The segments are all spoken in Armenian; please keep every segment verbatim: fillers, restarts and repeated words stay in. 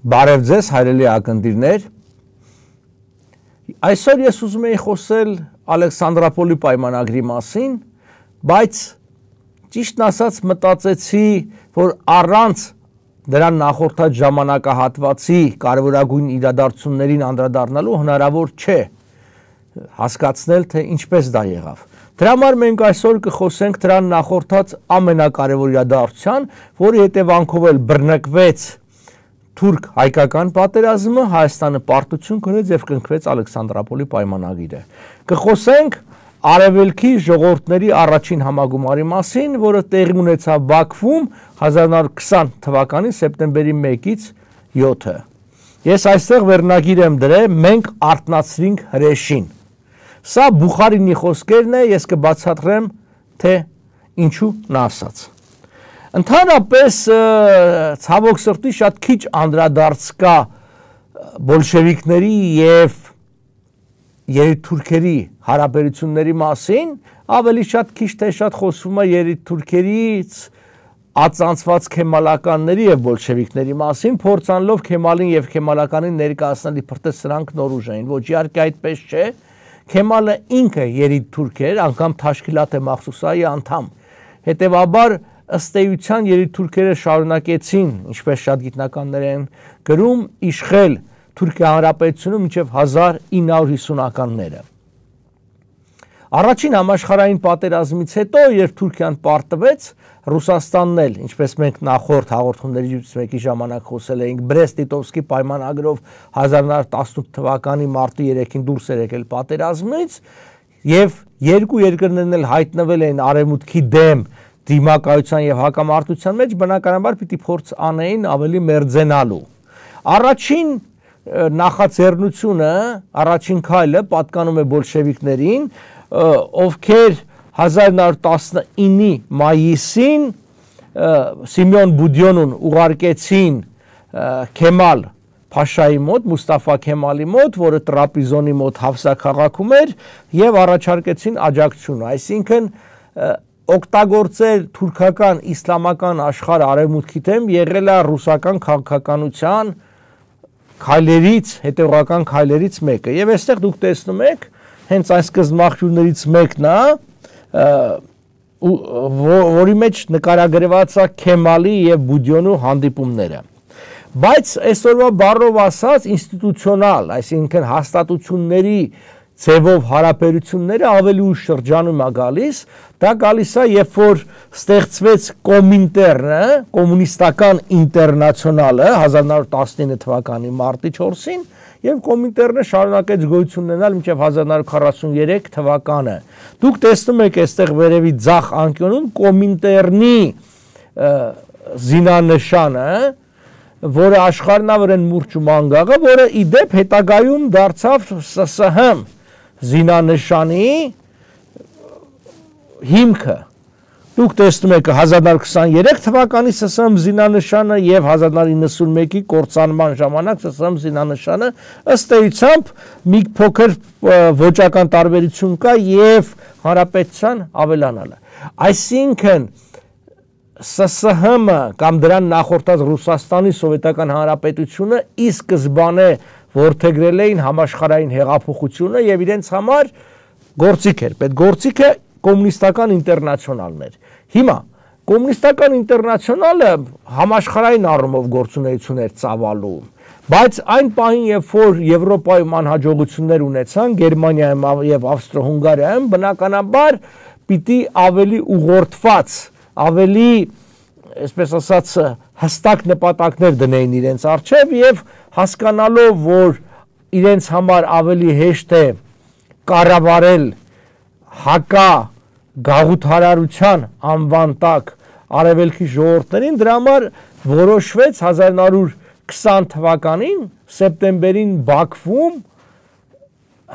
Բարև ձեզ հայրելի ակնտիրներ, այսօր ես ուզում եի խոսել Ալեքսանդրապոլի պայմանագրի մասին, բայց ճիշտն ասած մտածեցի, որ առանց դրան նախորդած ժամանակահատվածի կարևորագույն իրադարձություններին անդրադառնալու հնարավոր չէ հասկացնել, թե ինչպես դա եղավ։ Դրա համար մենք այսօր կխոսենք դրան նախորդած ամենակարևոր իրադարձության, որի հետևանքով էլ բռնկվեց թուրք-հայկական պատերազմը, Հայաստանը պարտություն կրեց եւ կնքվեց Ալեքսանդրապոլի պայմանագիրը։ Կխոսենք Արևելքի ժողովուրդների առաջին համագումարի մասին, որը տեղի ունեցավ Բաքվում հազար նոր քսան թվականի սեպտեմբերի մեկից յոթը։ Ես այստեղ վերնագիր եմ դրել մենք արթնացրինք հրեշին։ Սա Բուխարինի խոսքերն է, ես կբացատրեմ, թե ինչու նա ասաց։ Ընդհանրապես ցավոք սրտի շատ քիչ անդրադարձ կա բոլշևիկների եւ երիտթուրքերի հարաբերությունների մասին, ավելի շատ քիչ թե շատ խոսվում է երիտթուրքերից ածանցված քեմալականների եւ բոլշևիկների մասին, փորձանելով Քեմալին եւ քեմալականին ներկայացնել իբր թե սրանք նոր ուժ էին, ոչ իհարկե այդպես չէ։ Քեմալը ինքը երիտթուրք էր, անգամ Թաշկիլատ-է Մախսուսայի անդամ։ Հետևաբար ըստ էության երիտթուրքերը շարունակեցին, ինչպես շատ գիտնականներ են գրում, իշխել Թուրքիա Հանրապետությունում մինչև հազար ինը հարյուր հիսունականները։ Առաջին համաշխարհային պատերազմից հետո, երբ Թուրքիան պարտվեց, Ռուսաստանն էլ, ինչպես մենք նախորդ հաղորդումներից մեկի ժամանակ խոսել էինք, Բրեստ-Լիտովսկի պայմանագրով հազար նոր տասնութ թվականի մարտի երեքին դուրս էր եկել պատերազմից, եւ երկու երկրներն էլ հայտնվել էին արևմուտքի դեմ դիմակայության եւ հակամարտության մեջ, բնականաբար պիտի փորձ անեին ավելի մերձենալու։ Առաջին նախաձեռնությունը, առաջին քայլը պատկանում է բոլշևիկներին, ովքեր հազար նոր տասնինի մայիսին Սիմեոն Բուդյոնուն ուղարկեցին Քեմալ Փաշայի մոտ, Մուստաֆա Քեմալի մոտ, որը Տրապիզոնի մոտ Հավսա քաղաքում էր, եւ առաջարկեցին աջակցություն, այսինքն օգտագործել թուրքական իսլամական աշխարհ արևմուտքի դեմ եղել է ռուսական քաղաքականության քայլերից, հետևողական քայլերից մեկը։ Եվ այստեղ դուք տեսնում եք, հենց այս սկզբնաղբյուրներից մեկն է, որի մեջ նկարագրված է Քեմալի եւ Բուդյոնու հանդիպումները։ Բայց այսօրվա բառով ասած ինստիտուցիոնալ, այսինքն հաստատությունների ձևով հարաբերությունները ավելի ուշ շրջանում է գալիս, դա գալիս է, երբ որ ստեղծվեց Կոմինտերնը, կոմունիստական ինտերնացիոնալը հազար նոր տասնինը թվականի մարտի չորսին, եւ Կոմինտերնը շարունակեց գոյություն ունենալ մինչև հազար նոր քառասուններեք թվականը։ Դուք տեսնում եք այստեղ վերևի ձախ անկյունում Կոմինտերնի զինանշանը, որը աշխարհնավրեն մուրճ ու մանգաղը, որը ի դեպ հետագայում դարձավ Ս Ս Հ զինանշանի հիմքը։ Դուք տեսնում եք հազար նոր քսաներեք թվականի Ս Ս Հ զինանշանը եւ հազար նոր իննսունմեկի կործանման ժամանակ Ս Ս Հ զինանշանը, ըստ էությամբ մի փոքր ոճական տարբերություն կա եւ հանրապետության ավելանալը։ Այսինքն Ս Ս Հ-ը կամ դրան նախորդած Ռուսաստանի Սովետական Հանրապետությունը ի սկզբանե որդեգրել էին համաշխարհային հեղափոխությունը եւ իրենց համար գործիք էր։ Պետ գործիքը կոմունիստական ինտերնացիոնալն էր։ Հիմա կոմունիստական ինտերնացիոնալը համաշխարհային առումով գործունեություն էր ծավալում, բայց այն պահին, երբ որ Եվրոպայում անհաջողություններ ունեցան, Գերմանիայում եւ Ավստրո-Հունգարիայում, բնականաբար պիտի ավելի ուղղորդված, ավելի, այսպես ասած, հստակ նպատակներ դնեին իրենց առջև եւ հասկանալով, որ իրենց համար ավելի հեշտ է կառավարել հակա գաղութարարության անվան տակ արևելքի ժողովուրդներին, դրա համար որոշվեց հազար նոր քսան թվականին սեպտեմբերին Բաքվում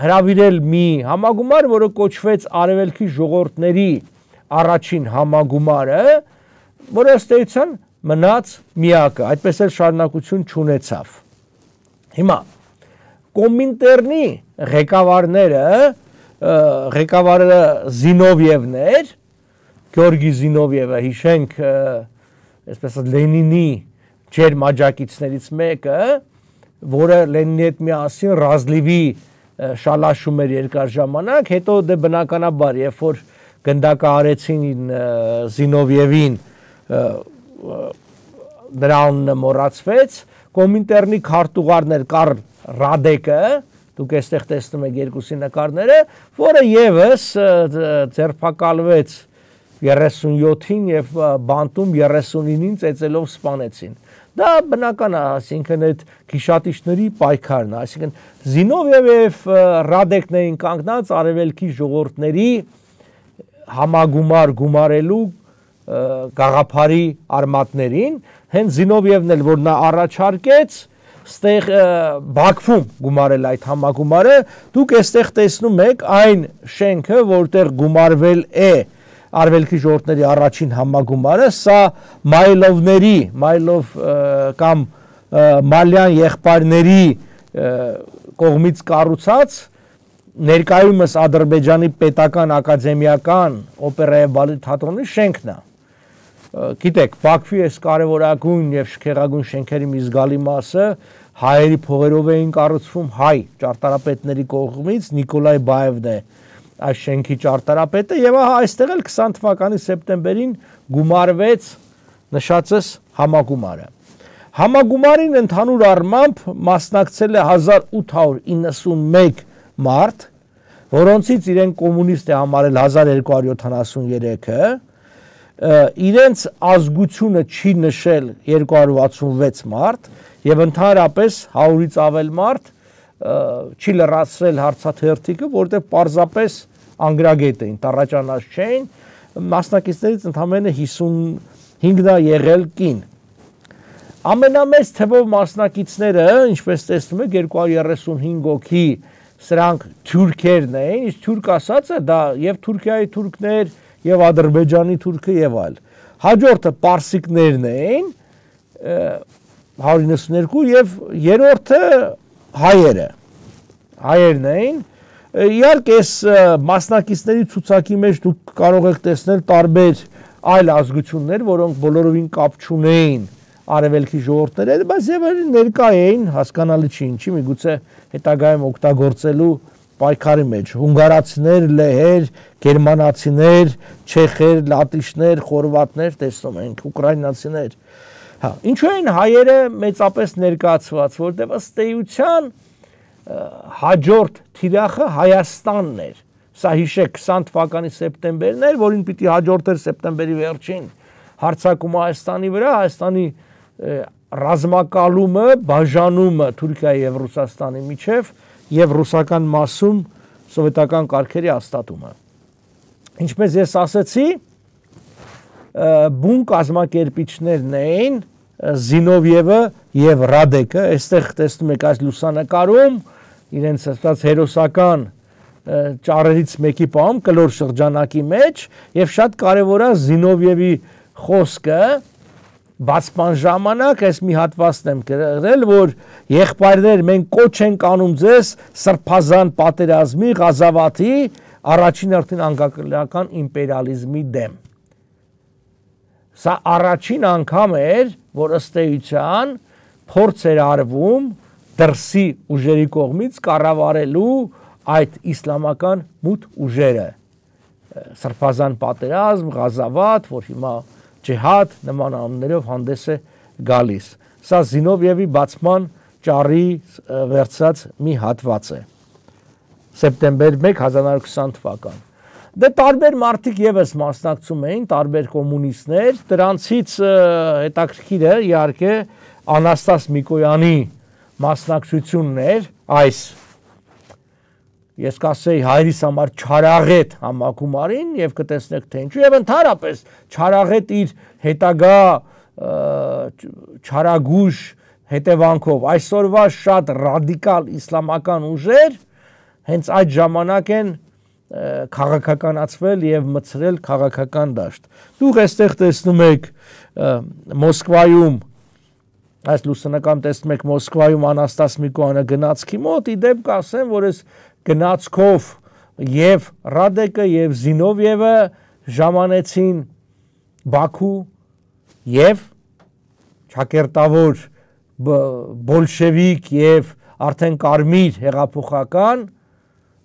հրավիրել մի համագումար, որը կոչվեց արևելքի ժողովուրդների առաջին համագումարը, որը ըստ էության մնաց միակը, այդպես էլ շարունակություն չունեցավ։ Հիմա Կոմինտերնի ղեկավարները, ղեկավարը Զինովիևն էր, Գեորգի Զինովիևը, հիշենք, այսպես Լենինի ջերմ աջակիցներից մեկը, որը Լենինի հետ միասին Ռազլիվի շալաշում էր երկար ժամանակ, հետո դե բնականաբար, երբ որ գնդակը արեցին Զինովիևին, նրա անունը մոռացվեց, Կոմինտերնի քարտուղարներ Կարլ Ռադեկը, դուք այստեղ տեսնում եք երկուսի նկարները, որը եւս ձերբակալվեց երեսունյոթին եւ բանտում երեսունինին ծեծելով սպանեցին։ Դա բնական է, այսինքն այդ գիշատիչների պայքարն է, այսինքն Զինովիևը եւ Ռադեկն էին կանգնած արևելքի ժողովուրդների համագումար գումարելու գաղափարի արմատներին, հենց Զինովիևն էլ որ նա առաջարկեց ստեղ Բաքվում գումարել այդ համագումարը, դուք այստեղ տեսնում եք այն շենքը, որտեղ գումարվել է արևելքի ժողովուրդների առաջին համագումարը, սա Մայլովների, Մայլով կամ Մալյան եղբայրների կողմից կառուցած ներկայումս Ադրբեջանի պետական ակադեմիական օպերայի բալետ թատրոնի շենքն է։ Գիտեք, Բաքվի այս կարևորագույն եւ շքեղագույն շենքերի մի զգալի մասը հայերի փողերով էին կառուցվում հայ ճարտարապետների կողմից, Նիկոլայ Բայևն է այս շենքի ճարտարապետը եւ այստեղ էլ քսան թվականի սեպտեմբերին գումարվեց նշածս համագումարը։ Համագումարին ընդհանուր առմամբ մասնակցել է հազար ութ հարյուր իննսունմեկ մարդ, որոնցից իրեն կոմունիստ է համարել հազար երկու հարյուր յոթանասուներեքը, իրենց ազգությունը չի նշել երկու հարյուր վաթսունվեց մարդ եւ ընդհանրապես հարյուրից ավել մարդ չի լրացրել հարցաթերթիկը, որտեղ պարզապես անգրագետ էին, տառաճանած չէին, մասնակիցներից ընդամենը հիսունհինգն է եղել կին։ Ամենամեծ թվով մասնակիցները, ինչպես տեսնում եք, երկու հարյուր երեսունհինգ հոգի, սրանք թուրքերն էին, իսկ թուրք ասածը դա եւ Թուրքիայի թուրքներ, եւ Ադրբեջանի թուրքը եւ այլ։ Հաջորդը պարսիկներն էին, հարյուր իննսունյոթ եւ երրորդը հայերը։ Հայերն էին։ Իհարկե այս մասնակիցների ցուցակի մեջ դուք կարող եք տեսնել տարբեր այլ ազգություններ, որոնք բոլորովին կապ չունեին արևելքի ժողովուրդների հետ, բայց եւ ներկա էին, հասկանալի չի ինչի, միգուցե հետագայում օգտագործելու պայքարի մեջ հունգարացիներ, լեհեր, գերմանացիներ, չեխեր, լատիշներ, խորվատներ, տեսնում ենք, ուկրաինացիներ։ Հա, ինչու են հայերը մեծապես ներկայացված, որտեղ ըստ էության հաջորդ թիրախը Հայաստանն էր։ Սա հիշեք քսան թվականի սեպտեմբերն էր, որին պիտի հաջորդեր սեպտեմբերի վերջին հարձակումը Հայաստանի վրա, Հայաստանի ռազմակալումը, բաժանումը Թուրքիայի եւ Ռուսաստանի միջև եւ ռուսական մասում սովետական կարգերի հաստատումը։ Ինչպես ես ասացի, բուն կազմակերպիչներն էին Զինովիևը եւ Ռադեկը, այստեղ տեսնում եք այս լուսանկարում իրենց ասած հերոսական ճառերից մեկի պահում կլոր շրջանակի մեջ եւ շատ կարեւոր է Զինովիևի խոսքը բացման ժամանակ այս մի հատվածն եմ գրել, որ եղբայրներ մենք կոչ ենք անում ձեզ սրբազան պատերազմի Ղազավաթի առաջին արդեն անկախական իմպերիալիզմի դեմ։ Սա առաջին անգամ էր, որ ըստ էության փորձ էր արվում դրսի ուժերի կողմից կառավարելու այդ իսլամական մութ ուժերը։ Սրբազան պատերազմ, Ղազավաթ, որ հիմա ջիհադ նման անուններով հանդես է գալիս։ Սա Զինովիևի բացման ճառի վերցած մի հատված է։ Սեպտեմբեր մեկ հազար նորը քսան թվական։ Դե տարբեր մարդիկ եւս մասնակցում էին, տարբեր կոմունիստներ, դրանցից հետաքրքիրը իհարկե Անաստաս Միկոյանի մասնակցությունն էր այս ես կասեի հայրիս համար չարաղետ համագումարին եւ կտեսնեք թե ինչու եւ ընդհանրապես չարաղետ իր հետագա չարագուժ հետևանքով այսօրվա շատ ռադիկալ իսլամական ուժեր հենց այդ ժամանակ են քաղաքականացվել եւ մցրել քաղաքական դաշտ։ Դուք այստեղ տեսնում եք Մոսկվայում այս լուսանկարում տեսնում եք Մոսկվայում Անաստաս Միկոյանը գնացքի մոտ, իդեպ կասեմ, որ այս գնացքով եւ Ռադեկը եւ Զինովիևը ժամանեցին Բաքու եւ ճակերտավոր բոլշևիկ եւ արդեն կարմիր հեղափոխական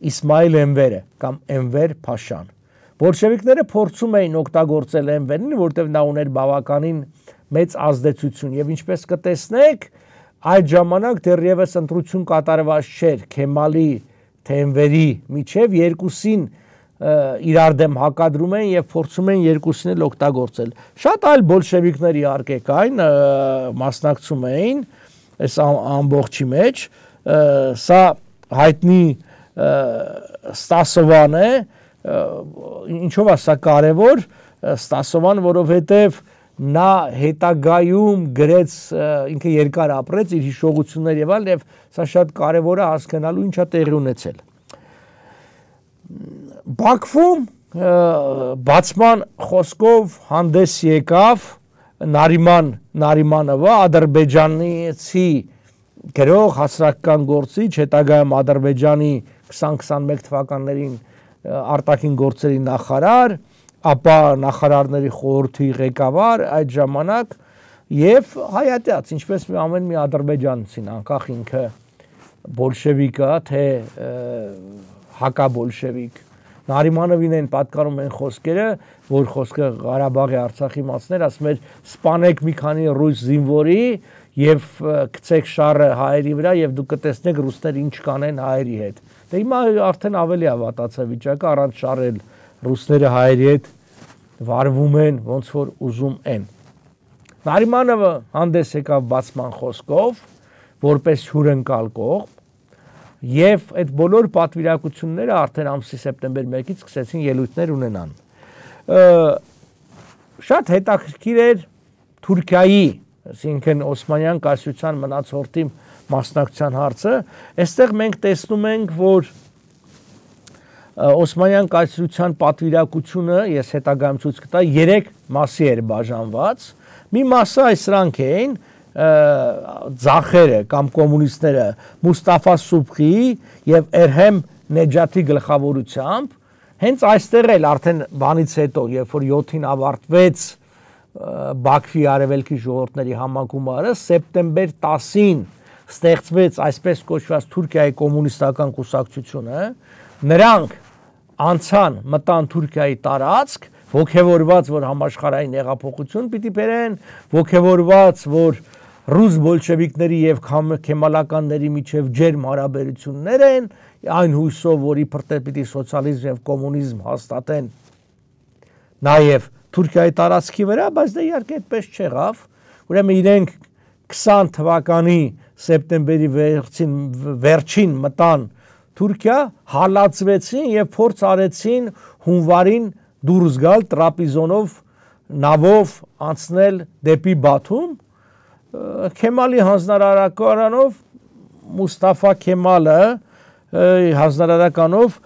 Իսմայիլ Էնվերը կամ Էնվեր Փաշան։ Բոլշևիկները փորձում էին օգտագործել Էնվերին, որտեղ նա ուներ բավականին մեծ ազդեցություն եւ ինչպես կտեսնեք, այդ ժամանակ դեռևս ընտրություն կատարված չէր Քեմալի թե Էնվերի միջև, երկուսին իրար դեմ հակադրում են եւ փորձում են երկուսին էլ օգտագործել։ Շատ այլ բոլշևիկներ իհարկե կային, մասնակցում էին այս ամբողջի մեջ, սա հայտնի Ստասովան է, ինչով է սա կարևոր, Ստասովան, որովհետեւ նա հետագայում գրեց, ինքը երկար ապրեց իր հիշողություններ եւ այլն, եւ սա շատ կարևոր է հասկանալու ինչա տեղի ունեցել։ Բաքվում բացման խոսքով հանդես եկավ Նարիման Նարիմանովը, ադրբեջանցի գրող, հասարակական գործիչ, հետագայում Ադրբեջանի քսան քսանմեկ թվականներին արտաքին գործերի նախարար, ապա նախարարների խորհրդի ղեկավար այդ ժամանակ եւ հայատյաց, ինչպես ամեն մի ադրբեջանցին, անկախ ինքը բոլշևիկ է, թե հակաբոլշևիկ։ Նարիմանովին են պատկանում են խոսքերը, որ խոսքը Ղարաբաղի Արցախի մասներ, ասում էր սպանեք մի քանի ռուս զինվորի եւ գցեք շարը հայերի վրա եւ դուք կտեսնեք ռուսները ինչ կանեն հայերի հետ։ Դե հիմա արդեն ավելի է վատացա վիճակը, առանց շարել ռուսները հայերի հետ վարվում են ոնց որ ուզում են։ Նարիմանովը հանդես եկավ բացման խոսքով, որպես հյուրընկալ կողմ, եւ այդ բոլոր պատվիրակությունները արդեն ամսի սեպտեմբեր մեկից սկսեցին ելույթներ ունենան։ Շատ հետաքրքիր էր Թուրքիայի, այսինքն Օսմանյան կայսրության մնացորդի մասնակցության հարցը, այստեղ մենք տեսնում ենք, որ Օսմանյան կայսրության պատվիրակությունը, ես հետագայում ցույց կտա, երեք մասի էր բաժանված։ Մի մասը այս սրանք էին, ձախերը կամ կոմունիստները Մուստաֆա Սուբխիի եւ Էրհեմ Նեջաթի գլխավորությամբ, հենց այստեղ էլ արդեն բանից հետո, երբ որ յոթին ավարտվեց Բաքվի արևելքի ժողովուրդների համագումարը, սեպտեմբեր տասին ստեղծվեց այսպես կոչված Թուրքիայի կոմունիստական կուսակցությունը, նրանք անցան մտան Թուրքիայի տարածք, ոգևորված, որ համաշխարհային հեղափոխություն պիտի բերեն, ոգևորված, որ ռուս բոլշևիկների եւ քեմալականների միջև ջերմ հարաբերություններ են, այն հույսով, որ իբր թե պիտի սոցիալիզմ եւ կոմունիզմ հաստատեն նաեւ Թուրքիայի տարածքի վրա, բայց դա իհարկե այդպես չեղավ։ Ուրեմն իրենք քսան թվականի սեպտեմբերի վերջին վերջին մտան Թուրքիա, հալածվեցին եւ փորձ արեցին հունվարին դուրս գալ Տրապիզոնով նավով անցնել դեպի Բաթում։ Քեմալի հանձնարարականով Մուստաֆա Քեմալը հանձնարարականով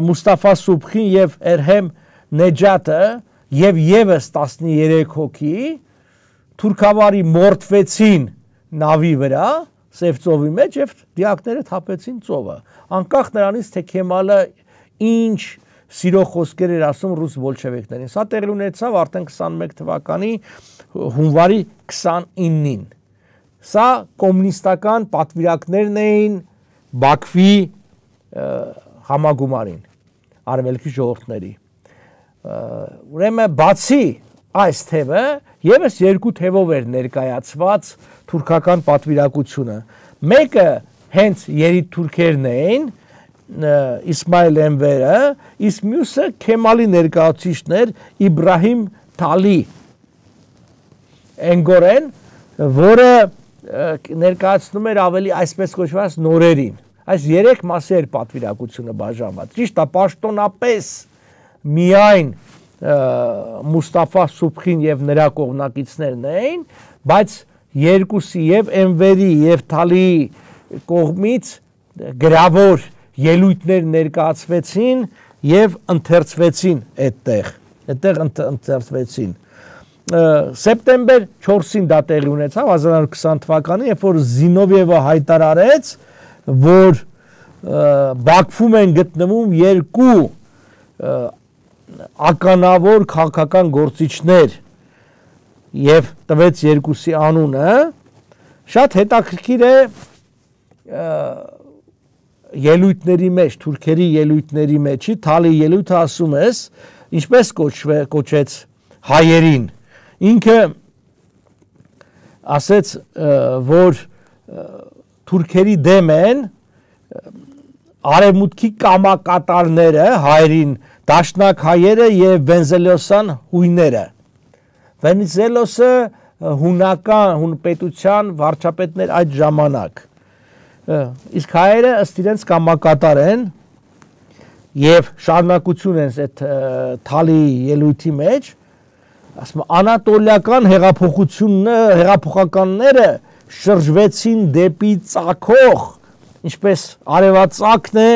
Մուստաֆա Սուբխին եւ Էրհեմ Նեջաթը եւ եւս տասներեք հոգի թուրքավարի մորթվեցին նավի վրա Սև ծովի մեջ եւ դիակները թափեցին ծովը։ Անկախ նրանից թե Քեմալը ինչ սիրո խոսքեր էր ասում ռուս բոլշևիկներին։ Սա տեղի ունեցավ արդեն քսանմեկ թվականի հունվարի քսանինին։ Սա կոմունիստական պատվիրակներն էին Բաքվի համագումարին, արևելքի ժողովուրդների։ Ուրեմն բացի այս թևը եւս երկու թևով էր ներկայացված թուրքական պատվիրակությունը։ Մեկը հենց երիտ թուրքերն էին, Իսմայիլ Էնվերը, իսկ մյուսը Քեմալի ներկայացուցիչն էր Իբրահիմ Թալի Էնգորեն, որը ներկայացնում էր ավելի այսպես կոչված նորերին։ Այս երեք մասի էր պատվիրակությունը բաժանված։ Ճիշտ է, պաշտոնապես միայն Մուստաֆա Սուբխին եւ նրա կողմնակիցներն էին, բայց երկուսի եւ Էնվերի եւ Թալիի կողմից գրավոր ելույթներ ներկայացվեցին եւ ընթերցվեցին այդտեղ, այդտեղ ընթերցվեցին։ Սեպտեմբեր չորսին դա տեղի ունեցավ հազար իննսուն քսան թվականին, երբ որ Զինովիևը հայտարարեց, որ Բաքվում են գտնվում երկու ականավոր քաղաքական գործիչներ, եւ տվեց երկուսի անունը, շատ հետաքրքիր է ելույթների մեջ, թուրքերի ելույթների մեջի Թալի ելույթը ասում ես, ինչպես կոչեց հայերին, ինքը ասեց, որ թուրքերի դեմ են արևմուտքի կամակատարները հայերին, դաշնակ հայերը եւ Վենզելոսյան հույները։ Վենզելոսը հունական, հուն պետության վարչապետներ այդ ժամանակ։ Իսկ հայերը ըստ իրենց կամակատար են եւ շարունակություն են այդ Թալի ելույթի մեջ, ասում անատոլիական հեղափոխությունը, հեղափոխականները շրջվեցին դեպի ծագող, ինչպես արևածագն է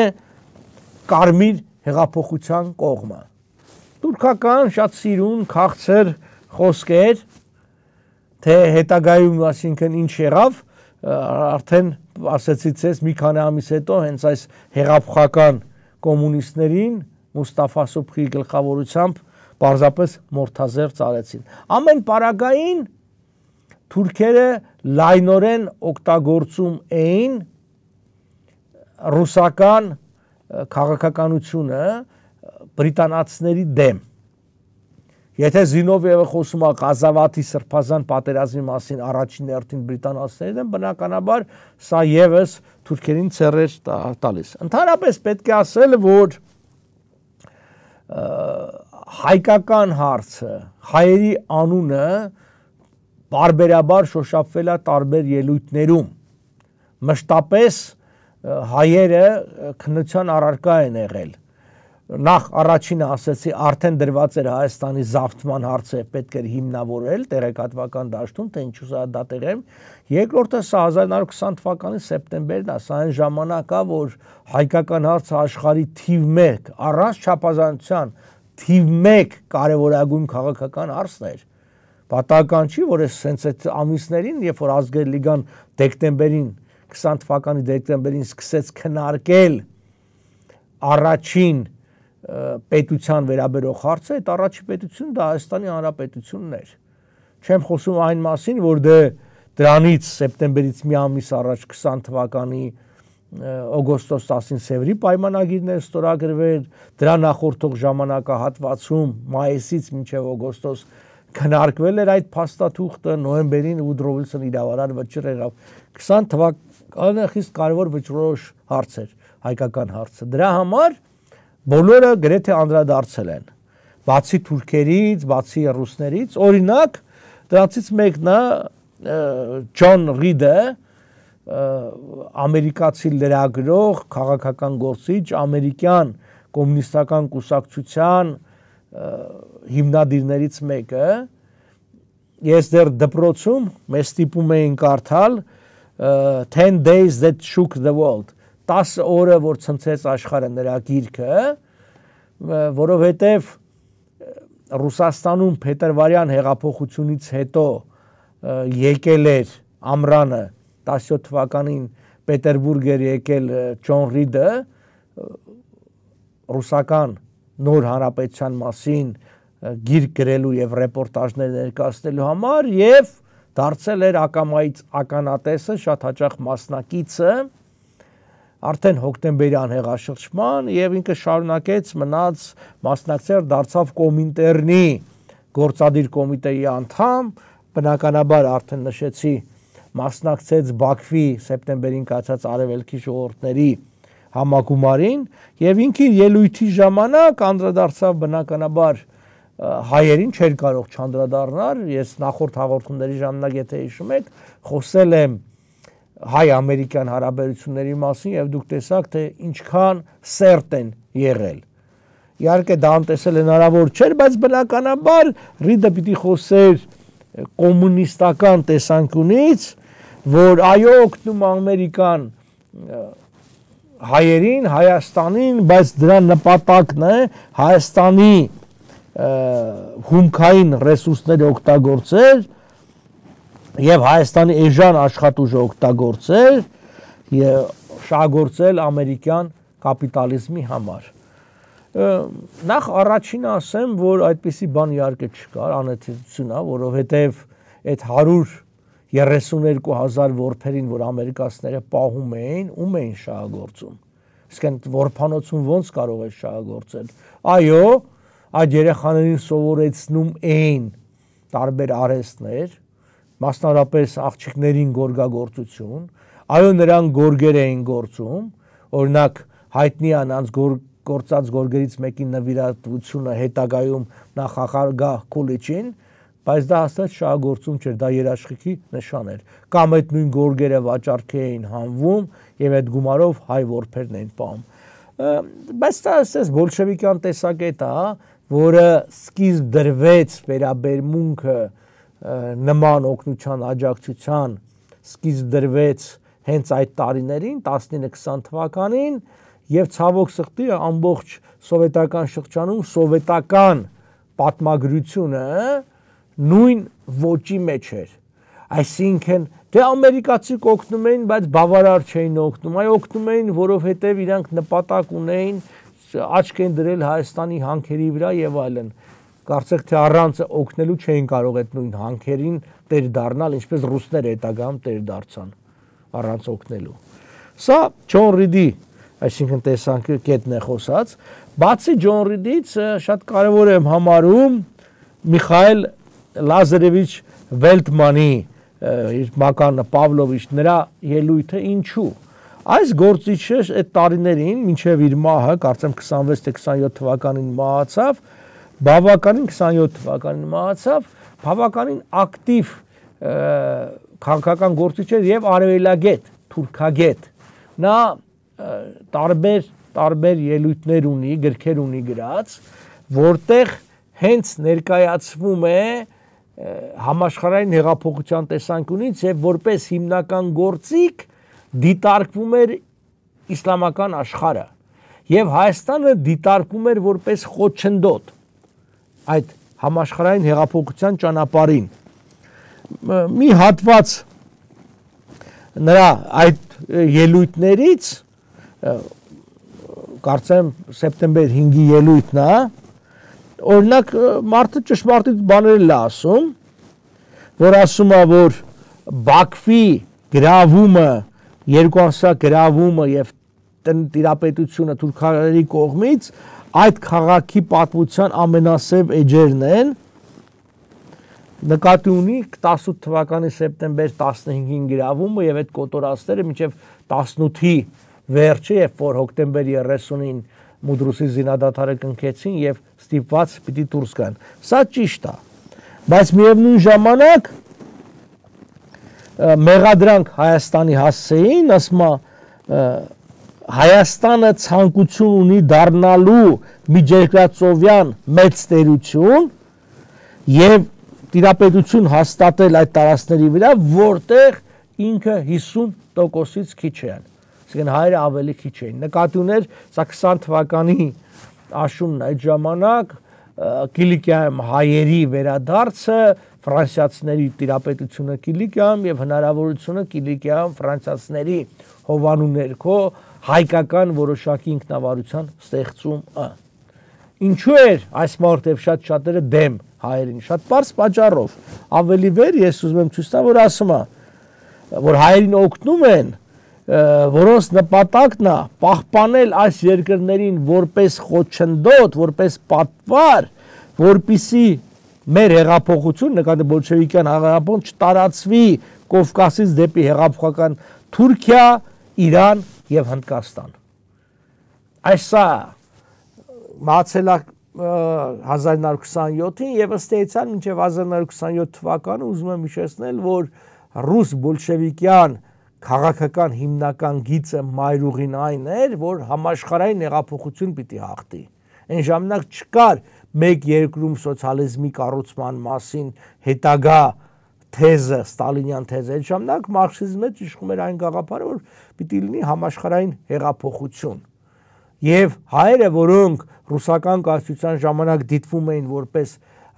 կարմիր հեղափոխության կողմը։ Թուրքական շատ սիրուն քաղցր խոսքեր, թե հետագայում, այսինքն ինչ եղավ, արդեն ասեցից ես մի քանի ամիս հետո հենց այս հեղափոխական կոմունիստներին Մուստաֆա Սոբխի գլխավորությամբ պարզապես մորթազեր ծարեցին։ Ամեն պարագային թուրքերը լայնորեն օգտագործում էին ռուսական քաղաքականությունը բրիտանացիների դեմ։ Եթե Զինովիևը խոսում է Ղազավաթի սրբազան պատերազմի մասին առաջին հերթին բրիտանացիների դեմ, բնականաբար սա եւս թուրքերին ցերեր տալիս։ Ընդհանրապես պետք է ասել, որ հայկական հարցը, հայերի անունը բարբերաբար շոշափվել է տարբեր ելույթներում։ Մշտապես հայերը քննության առարկա են եղել։ Նախ առաջինը ասեցի, արդեն դրված էր Հայաստանի զավթման հարցը, պետք էր հիմնավորել տեղեկատվական դաշտում, թե ինչու սա դա տեղեմ։ Երկրորդը սա հազար նորը քսան թվականի սեպտեմբերն է, սա այն ժամանակա, որ հայկական հարցը աշխարհի թիվ մեկ, առանց չափազանցության, թիվ մեկ կարևորագույն քաղաքական հարցն էր։ Պատահական չի, որ այս հենց այդ ամիսներին, երբ որ Ազգերի լիգան դեկտեմբերին, քսան թվականի դեկտեմբերին սկսեց քննարկել առաջին պետության վերաբերող հարցը, այդ առաջին պետությունը դա Հայաստանի Հանրապետությունն էր։ Չեմ խոսում այն մասին, որ դե դրանից սեպտեմբերից մի ամիս առաջ քսան թվականի օգոստոս տասին Սևրի պայմանագիրներ ստորագրվել, դրա նախորդող ժամանակահատվածում մայիսից մինչև օգոստոս քննարկվել էր այդ փաստաթուղթը, նոյեմբերին Woodrow Wilson իրավարար վճռ եղավ։ քսան թվականը խիստ կարևոր վճռորոշ հարց էր, հայկական հարցը։ Դրա համար բոլորը գրեթե անդրադարձել են, բացի թուրքերից, բացի ռուսներից, օրինակ դրանցից մեկն է Ջոն Ռիդը, ամերիկացի լրագրող, քաղաքական գործիչ, ամերիկյան կոմունիստական կուսակցության հիմնադիրներից մեկը, ես դեռ դպրոցում մեզ ստիպում էին կարդալ ten days that shook the world, տասը օրը, որ ցնցեց աշխարհը նրա գիրքը, որովհետև Ռուսաստանում փետրվարյան հեղափոխությունից հետո եկել էր ամռանը տասնյոթ թվականին Պետերբուրգ էր եկել Ջոն Ռիդը ռուսական նոր հանրապետության մասին գիրք գրելու եւ ռեպորտաժներ ներկայացնելու համար եւ դարձել էր ակամայից ականատեսը, շատ հաճախ մասնակիցը արդեն հոկտեմբերյան հեղաշրջման եւ ինքը շարունակեց մնաց մասնակցել, դարձավ Կոմինտերնի գործադիր կոմիտեի անդամ, բնականաբար արդեն նշեցի մասնակցեց Բաքվի սեպտեմբերին կայացած արևելքի ժողովուրդների համագումարին եւ ինքի ելույթի ժամանակ անդրադարձավ բնականաբար հայերին, չէր կարող չանդրադառնալ, ես նախորդ հաղորդումների ժամանակ եթե հիշում եք, խոսել եմ հայ-ամերիկյան հարաբերությունների մասին եւ դուք տեսաք, թե ինչքան սերտ են եղել։ Իհարկե դա անտեսել հնարավոր չէր, բայց բնականաբար Ռիդը պիտի խոսեր կոմունիստական տեսանկյունից, որ այո օգնում Ամերիկան հայերին, Հայաստանին, բայց դրա նպատակն է Հայաստանի հումքային ռեսուրսները օգտագործել եւ Հայաստանի էժան աշխատուժը օգտագործել եւ շահագործել ամերիկյան կապիտալիզմի համար։ Նախ առաջինը ասեմ, որ այդպիսի բան իհարկե չկար, անհետեցություն է, որովհետեւ այդ հարյուր երեսուներկու հազար որբերին, որ ամերիկացիները պահում էին, ում էին շահագործում։ Իսկ այն որբանոցում ոնց կարող է շահագործել։ Այո, այդ երեխաներին սովորեցնում էին տարբեր արհեստներ, մասնավորապես աղջիկներին գորգագործություն, այո, նրանք գորգեր էին գործում, օրինակ հայտնի է նրանց գործած գորգերից մեկի նվիրատվությունը հետագայում նախագահ Կուլիչին, բայց դա հաստատ շահագործում չէր, դա երաշխիքի նշան էր։ Կամ այդ նույն գորգերը վաճառքի էին հանվում եւ այդ գումարով հայ որբերն էին պահում։ Բայց դա ասես բոլշևիկյան տեսակետ է, որը սկիզբ դրվեց վերաբերմունքը նման օգնության աջակցության, սկիզբ դրվեց հենց այդ տարիներին, տասնինը քսան թվականին, եւ ցավոք սրտի ամբողջ սովետական շրջանում սովետական պատմագրությունը նույն ոճի մեջ էր։ Այսինքն դե ամերիկացի կօգնում էին, բայց բավարար չէին օգնում, այ օգնում էին, որովհետև իրանք նպատակ ունեին, աչք են դրել Հայաստանի հանքերի վրա եւ այլն։ Կարծեք թե առանց օգնելու չէին կարող այդ նույն հանքերին տեր դառնալ, ինչպես ռուսները հետագայում տեր դարձան առանց օգնելու։ Սա Ջոն Ռիդի, այսինքն տեսանկյունի կետն է խոսած, բացի Ջոն Ռիդից շատ կարևոր եմ համարում Միխայել Լազարևիչ Վելտմանի իր մականը Պավլովիչ նրա ելույթը ինչու։ Այս գործիչը այդ տարիներին մինչև իր մահը, կարծեմ քսանվեց թե քսանյոթ թվականին մահացավ, բավականին քսանյոթ թվականին մահացավ, բավականին ակտիվ քաղաքական գործիչ էր եւ արևելագետ, թուրքագետ։ Նա տարբեր տարբեր ելույթներ ունի, գրքեր ունի գրած, որտեղ հենց ներկայացվում է համաշխարհային հեղափոխության տեսանկյունից եւ որպես հիմնական գործիք դիտարկվում էր իսլամական աշխարհը եւ Հայաստանը դիտարկվում էր որպես խոչընդոտ այդ համաշխարհային հեղափոխության ճանապարհին։ Մի հատված նրա այդ ելույթներից, կարծեմ սեպտեմբեր հինգի ելույթն է, օրինակ մարդը ճշմարտիտ բաներ է ասում, որ ասում է, որ Բաքվի գրավումը, երկուամսյա գրավումը եւ տիրապետությունը թուրքերի կողմից այդ քաղաքի պատմության ամենասև էջերն են, նկատի ունի տասնութ թվականի սեպտեմբեր տասնհինգին գրավումը եւ այդ կոտորածները մինչեւ տասնութի վերջը, երբ որ հոկտեմբեր երեսունին Մուդրուսի զինադադարը կնքեցին եւ ստիպված պիտի դուրս գան։ Սա ճիշտ է, բայց միևնույն ժամանակ մեղադրանք Հայաստանի հասցեին, ասում է Հայաստանը ցանկություն ունի դառնալու միջերկրածովյան մեծ տերություն եւ տիրապետություն հաստատել այդ տարածքների վրա, որտեղ ինքը հիսուն տոկոսից քիչ է։ Այսինքն հայերը ավելի քիչ էին։ Նկատի ուներ սա քսան թվականի աշունն այդ ժամանակ Կիլիկիայում հայերի վերադարձը, ֆրանսիացիների տիրապետությունը Կիլիկիայում եւ հնարավորությունը Կիլիկիայում ֆրանսիացիների հովանու ներքո հայկական որոշակի ինքնավարության ստեղծումը։ Ինչու էր այս մարդը շատ շատերը դեմ հայերին, շատ པարզ պատճառով։ Ավելի վեր ես ուզում եմ ցույց տալ, որ ասում է, որ հայերին օգնում են, որոնց նպատակն է պահպանել այս երկրներին որպես խոչընդոտ, որպես պատվար, որպիսի մեր հեղափոխություն, նկատի բոլշևիկյան հեղափոխություն չտարածվի Կովկասից դեպի հեղափոխական Թուրքիա, Իրան եւ Հնդկաստան։ Այսա մահացել է հազար նոր քսանյոթին եւ ըստ էության մինչեւ հազար նոր քսանյոթ թվականը ուզում եմ հիշեցնել, որ ռուս բոլշևիկյան քաղաքական հիմնական գիծը մայրուղին այն էր, որ համաշխարհային հեղափոխություն պիտի հաղթի։ Այն ժամանակ չկար մեկ երկրում սոցիալիզմի կառուցման մասին հետագա թեզը, ստալինյան թեզը։ Այդ ժամանակ մարքսիզմը իշխում էր այն գաղափարը, որ պիտի լինի համաշխարհային հեղափոխություն։ Եվ հայերը, որոնք ռուսական կայսրության ժամանակ դիտվում էին որպես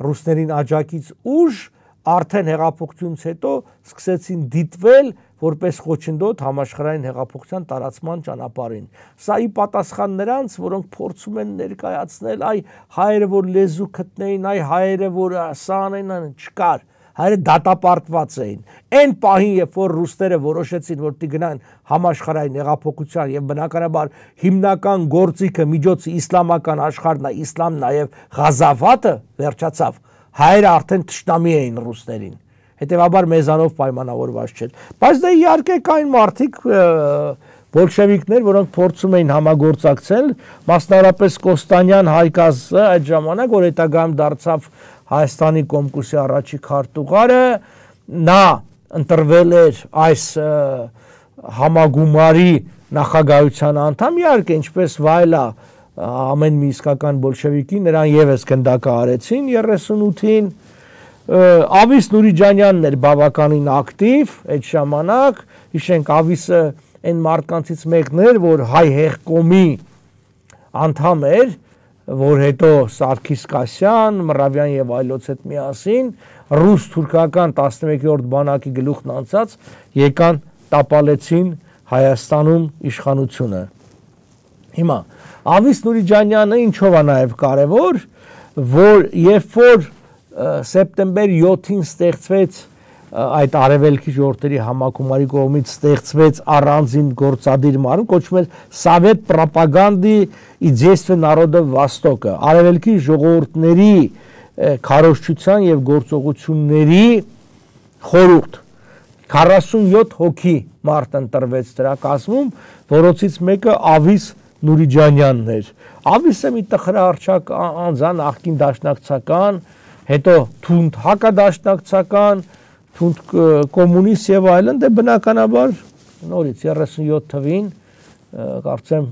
ռուսներին աջակից ուժ, արդեն հեղափոխությունից հետո սկսեցին դիտվել որպես խոչընդոտ համաշխարհային հեղափոխության տարածման ճանապարհին։ Սա ի պատասխան նրանց, որոնք փորձում են ներկայացնել, այ հայերը որ լեզու գտնեին, այ հայերը որ սա անեն, չկար։ հայերը դատապարտված էին։ Այն պահին, երբ որ ռուսները որոշեցին, որ պիտի գնան համաշխարհային հեղափոխության եւ բնականաբար հիմնական գործիքը միջոցը իսլամական աշխարհն է, իսլամն է եւ Ղազավատը վերջացավ, հայերը արդեն թշնամի էին ռուսներին։ Հետևաբար մեզանով պայմանավորված չէր։ Բայց դա իհարկե կային մարդիկ բոլշևիկներ, որոնք փորձում էին համագործակցել, մասնավորապես Կոստանյան Հայկազը այդ ժամանակ, որ հետագայում դարձավ Հայաստանի Կոմկուսի առաջի քարտուղարը, նա ընտրվել էր այս համագումարի նախագահության անդամ, իհարկե ինչպես վայելա ամեն մի իսկական բոլշևիկի, նրան եւս գնդակահարեցին երեսունութին, Ավիս Նուրիջանյանն էր բավականին ակտիվ այդ ժամանակ, հիշենք Ավիսը այն մարդկանցից մեկն էր, որ հայ հեղկոմի անդամ էր, որ հետո Սարգիս Կասյան, Մռավյան եւ այլոց հետ միասին ռուս-թուրքական տասնմեկերորդ բանակի գլուխն անցած եկան տապալեցին Հայաստանում իշխանությունը։ Հիմա Ավիս Նուրիջանյանը ինչով է նաեւ կարևոր, որ երբ որ սեպտեմբեր յոթին ստեղծվեց այդ արևելքի ժողովրդերի համակումարի կողմից ստեղծվեց առանձին գործադիր մարմին, կոչվում էր Սովետ պրոպագանդի и действия народа Востока, արևելքի ժողովուրդների քարոզչության եւ գործողությունների խորհուրդ քառասունյոթ հոգի մարդ ընտրվեց դրա կազմում, որոնցից մեկը Ավիս Նուրիջանյանն էր։ Ավիսը մի տխրահարճակ անձան, աղքին դաշնակցական, հետո թունդ հակադաշնակցական, թունդ կոմունիստ եւ այլն, դե բնականաբար նորից երեսունյոթ թվին կարծեմ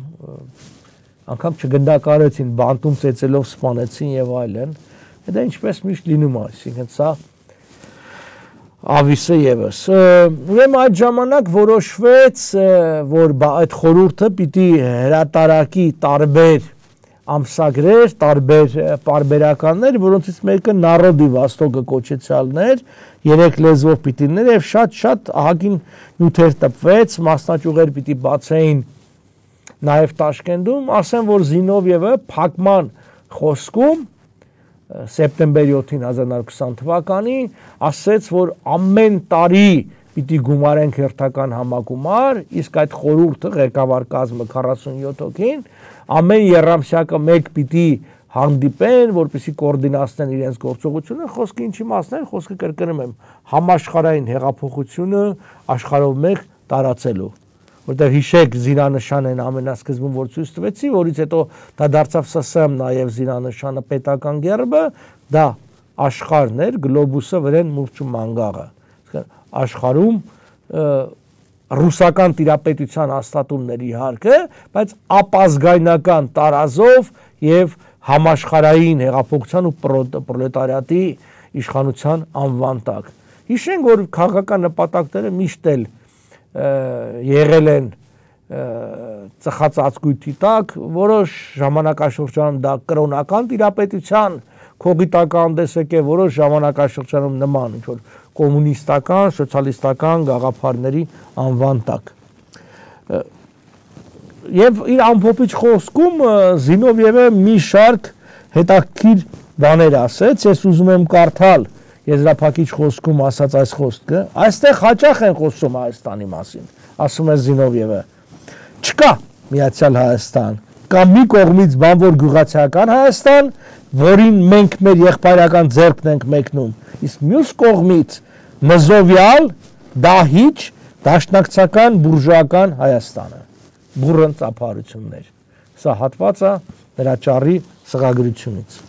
անգամ չգնդակարեցին, բանտում ծեծելով սպանեցին եւ այլն։ Դա ինչպես միշտ լինում է, այսինքն սա Ավիսը եւս։ Ուրեմն այդ ժամանակ որոշվեց, որ այդ խորհուրդը պիտի հրատարակի տարբեր ամսագրեր, տարբեր պարբերականներ, որոնցից մեկը Народի Վոստոկը կոչեցյալն էր, երեք լեզվով պիտի ներ եւ շատ-շատ ահագին նյութեր տպվեց, մասնաճյուղեր պիտի բացեին նաեւ Տաշկենտում, ասեմ, որ Զինովիևը փակման խոսքում սեպտեմբեր յոթին հազար նոյ հարյուր քսան թվականին ասեց, որ ամեն տարի պիտի գումարենք հերթական համագումար, իսկ այդ խորհուրդը ղեկավար կազմը քառասունյոթ հոգին ամեն երամսյակը մեկ պիտի հանդիպեն, որպեսզի կոորդինացնեն իրենց գործողությունը, խոսքը ինչի մասն էր, խոսքը կրկնում եմ, համաշխարհային հեղափոխությունը աշխարհով մեկ տարածելու, որտեղ հիշեք զինանշան են ամենասկզբում որ ցույց տվեցի, որից հետո դա դարձավ С С Մ նաև զինանշանը պետական գերբը, դա աշխարհն էր, գլոբուսը վրեն մուրճու մանգաղը, աշխարհում ռուսական տիրապետության հաստատումների իհարկե, բայց ապազգայնական տարազով եւ համաշխարհային հեղափոխության ու պրոլետարիատի իշխանության անվան տակ։ Հիշենք, որ քաղաքական նպատակները միշտ էլ եղել են ծխած ածկույթի տակ, որոշ ժամանակաշրջանում դա կրոնական տիրապետության կողիտական դեսեք է, որոշ ժամանակաշրջանում նման ինչ որ կոմունիստական, սոցիալիստական գաղափարների անվան տակ։ Եվ իր ամփոփիչ խոսքում Զինովիևը մի շարք հետաքրքիր բաներ ասեց, ես ուզում եմ կարդալ եզրափակիչ խոսքում ասած այս խոսքը, այստեղ հաճախ են խոսում Հայաստանի մասին, ասում է Զինովիևը, չկա Միացյալ Հայաստան, կա մի կողմից բանվոր գյուղացիական Հայաստան, որին մենք մեր եղբայրական ձեռքն ենք մեկնում, իսկ մյուս կողմից նզովյալ, դահիճ, դաշնակցական, բուրժուական Հայաստանը, բուրըն ծափարություններ, սա հատվածը նրա ճառի սղագրությունից։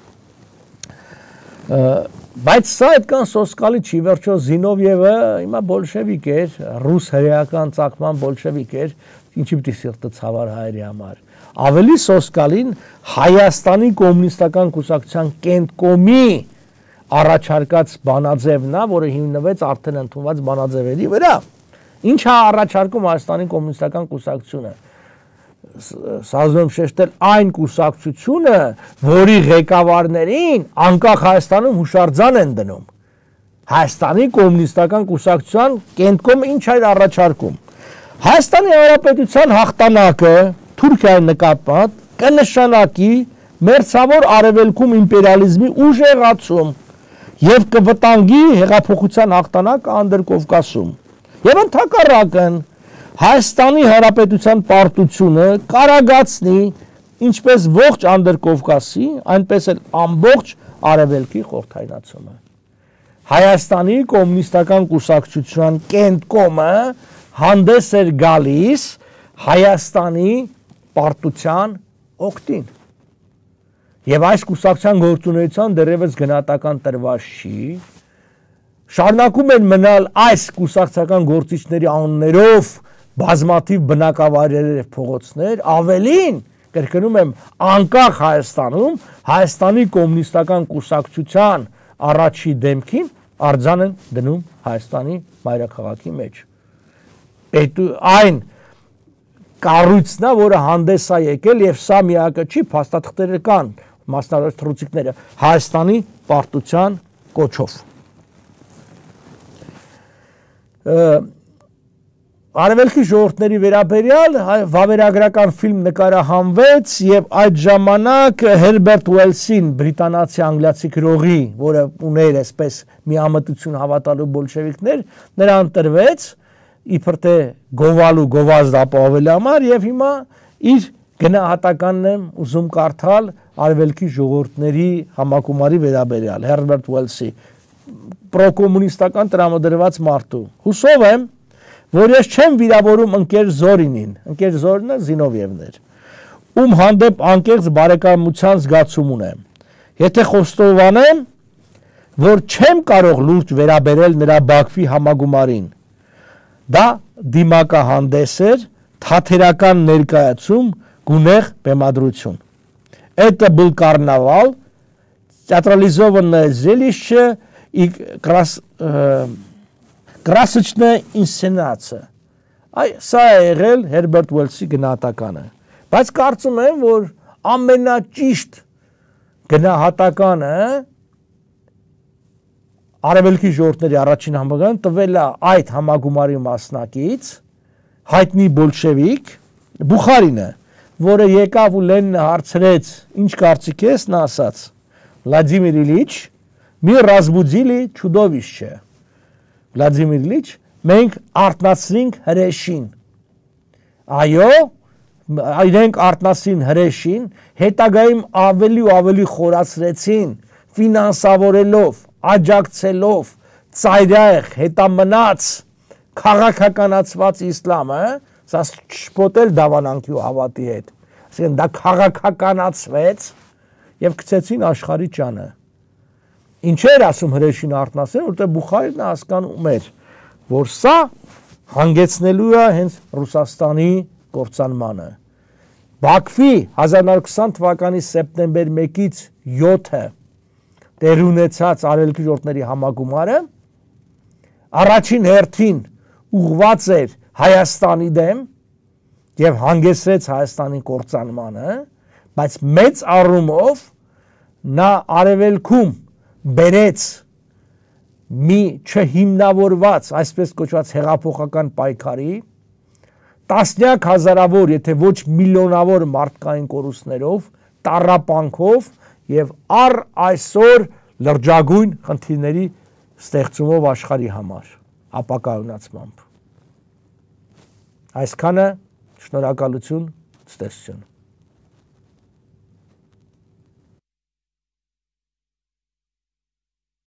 Բայց սա այդքան սոսկալի չի, վերջո Զինովիևը հիմա բոլշևիկ էր, ռուս հրեական ծագման բոլշևիկ էր, ինչի պիտի սիրտը ցավար հայերի համար։ Ավելի սոսկալին Հայաստանի կոմունիստական կուսակցության կենտկոմի առաջարկած բանաձևն է, որը հիմնվեց արդեն ընդունված բանաձևերի վրա։ Ինչ է առաջարկում Հայաստանի կոմունիստական կուսակցությունը։ Սազում շեշտել այն կուսակցությունը, որի ղեկավարներին անկախ Հայաստանում հուշարձան են դնում։ Հայաստանի կոմունիստական կուսակցության կենտկոմը ինչ է առաջարկում։ Հայաստանի Հանրապետության հաղթանակը Թուրքիայի նկատմամբ կնշանակի մերձավոր արևելքում իմպերիալիզմի ուժեղացում, եւ կվտանգի հեղափոխության հաղթանակը Անդրկովկասում։ Եվ ընդհակառակն Հայաստանի Հանրապետության պարտությունը կարագացնի ինչպես ողջ Անդրկովկասի, այնպես էլ ամբողջ Արևելքի խորհրդայնացումը։ Հայաստանի կոմունիստական կուսակցության կենտկոմը հանդես էր գալիս Հայաստանի պարտության օգտին։ Եվ այս կուսակցության գործունեության դեռևս գնահատական տրված չի, շարունակում են մնալ այս կուսակցական գործիչների անուններով բազմաթիվ բնակավայրեր եւ փողոցներ, ավելին, կրկնում եմ, անկախ Հայաստանում Հայաստանի կոմունիստական կուսակցության առաջի դեմքին արձան են դնում Հայաստանի մայրաքաղաքի մեջ։ Այն կառույցն է, որը հանդես է եկել եւ սա միակը չի, փաստաթղթերը կան, մասնավոր թռուցիկները Հայաստանի պարտության կոչով։ Արևելքի ժողովուրդների վերաբերյալ վավերագրական ֆիլմ նկարահանվեց եւ այդ ժամանակ Հերբերտ Ուելսին, բրիտանացի անգլիացի գրողի, որը ուներ այսպես միամտություն հավատալու բոլշևիկներ, նրան տրվեց իբր թե գովալու գովազդ ապահովելու համար եւ հիմա իր գնահատականն եմ ուզում կարդալ արևելքի ժողովուրդների համակումարի վերաբերյալ Հերբերտ Ուելսի պրոկոմունիստական տրամադրված մարդու։ Հուսով եմ, որ ես չեմ վիրավորում ընկեր Զորինին, ընկեր Զորինը Զինովիևն էր, ում հանդեպ անկեղծ բարեկամության զգացում ունեմ։ Եթե խոստովանեմ, որ չեմ կարող լուրջ վերաբերել նրա Բաքվի համագումարին, դա դիմակահանդես էր, թաթերական ներկայացում, գունեղ բեմադրություն։ Это был карнавал, театрализованное зрелище и крас, э, красочная ինսցենացիա։ Այ սա է եղել Հերբերտ Ուելսի գնահատականը։ Բայց կարծում եմ, որ ամենաճիշտ գնահատականը արևելքի ժողովուրդների առաջին համագումարին տվել է այդ համագումարի մասնակից հայտնի բոլշևիկ Բուխարինը, որը եկավ ու Լենինը հարցրեց, ինչ կարծիք ես, նա ասաց. Վլադիմիր Իլիչ, մի ռազմուդիլի չուդովիշչը։ Վլադիմիր Իլիչ, մենք արտնացրինք հրեշին։ Այո, իրենք արտնացրին հրեշին, հետագայում ավելի ու ավելի խորացրեցին, ֆինանսավորելով, աջակցելով, ծայրահեղ, հետամնաց, քաղաքականացված իսլամը, սա շփոթել դավանանքի ու հավատի հետ, ասեն դա քաղաքականացվեց եւ գցեցին աշխարհի ճանը։ Ինչ էր ասում հրեշին արտնասեն, որտեղ Բուխարինը հասկանում էր, որ սա հանգեցնելու է հենց Ռուսաստանի կործանմանը։ Բաքվի հազար նորը քսան թվականի սեպտեմբեր մեկից յոթը տեղ ունեցած արևելքի ժողովուրդների համագումարը առաջին հերթին ուղղված էր Հայաստանի դեմ եւ հանգեցրեց Հայաստանի կործանմանը, բայց մեծ առումով նա արևելքում բերեց մի չհիմնավորված, այսպես կոչված հեղափոխական պայքարի, տասնյակ հազարավոր, եթե ոչ միլիոնավոր մարդկային կորուստներով, տառապանքով եւ առ այսօր լրջագույն խնդիրների ստեղծումով աշխարհի համար, ապակայունացմամբ։ Այսքանը, շնորհակալություն, ցտեսություն։